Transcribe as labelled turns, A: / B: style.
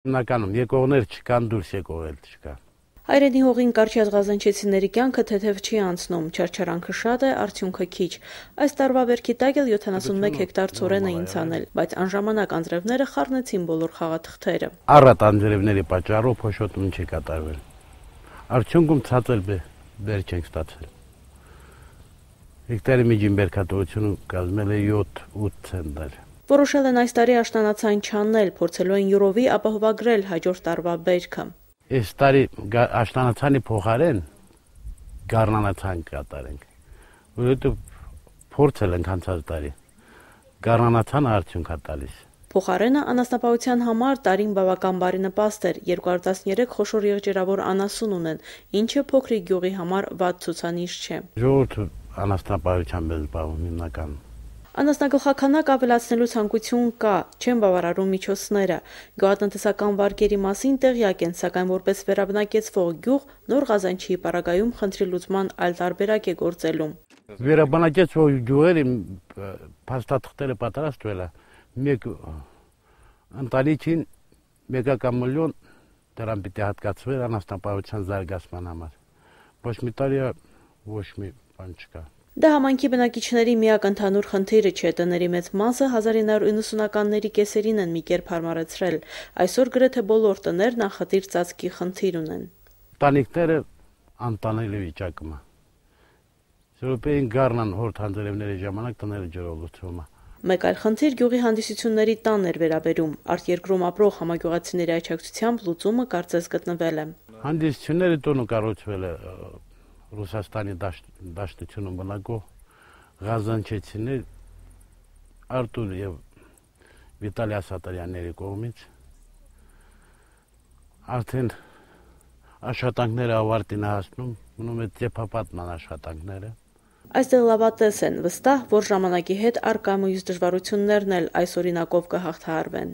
A: Հիմնականում եկողներ չկան, դուրս եկողել չկա։
B: Հայրենի հողին կարճ ղազանչեցիների կյանքը թեթև չի անցնում, չարչարանքը շատ է, արդյունքը քիչ։ Այս տարվա վերքի տակ էլ 71 հեկտար ցորեն էին ցանել, բայց անժամանակ անձրևները խառնեցին բոլոր խաղաթղթերը։
A: Առատ անձրևների պատճառով փոշոտում չի կատարվել։ Արդյունքում ցածր բեր չենք ստացել։ Հեկտարի միջին բերքատվությունը կազմել է 7-8 ցենտներ։
B: Որոշել են այս տարի աշնանացան չանել, փորձելու են յուրովի ապահովագրել հաջորդ տարվա բերքը։
A: Այս տարի աշնանացանի փոխարեն գառնանացան կատարենք, որովհետև փորձել ենք անցած տարի, գառնանացանը արդյունք է տալիս։
B: Փոխարենը անասնապահության համար տարին բավական բարենպաստ էր, 213 խոշոր եղջերավոր անասուն ունեն, ինչը փոքրիկ գյուղի համար վատ ցուցանիշ չէ։
A: Ժողովուրդը անասնապահությամբ է զբաղվում հիմնականում։
B: Անասնագլխաքանակ ավելացնելու ցանկություն կա, չեն բավարարում միջոցները։ Գյուղատնտեսական վարկերի մասին տեղյակ են, սակայն որպես վերաբնակեցվող գյուղ նոր Ղազանչիի պարագայում խնդրի լուծման այլ տարբերակ է գործելու։
A: Վերաբնակեցվող գյուղերի փաստաթղթերը պատրաստվել է, մեկ ընտանիքին մեկական միլիոն դրամ պիտի հատկացվեր անասնապահության զարգացման համար։ Ոչ մի տարի ոչ մի բան չկա։
B: Դա համայնքի բնակիչների միակ ընդհանուր խնդիրը չէ, տների մեծ մասը 1990-ականների կեսերին են մի կերպ հարմարեցրել։ Այսօր գրեթե բոլոր տներ նախադիր ծածկի խնդիր ունեն։
A: Տանիքները անտանելի վիճակում է։ Սրոպեին գառնան հորդ հանձրևների ժամանակ տները ջրով լուծվում է։
B: Մեկ այլ խնդիր գյուղի հանդիսությունների տանն էր վերաբերում։ Արտերկրում ապրող համագյուղացիների աջակցությամբ լուծումը կարծես գտնվել է։
A: Հանդիսությունների տունը կառուցվել է Ռուսաստանի դաշտությունում բնակող ղազանչեցիներ Արտուր եւ Վիտալի Ասատրյանների կողմից արդեն աշխատանքները ավարտին հասնում, մնում է ծեփապատման աշխատանքները։
B: Այստեղ լավատես են, վստահ, որ ժամանակի հետ առկա մյուս դժվարություններն էլ այս օրինակով կհաղթահարվեն։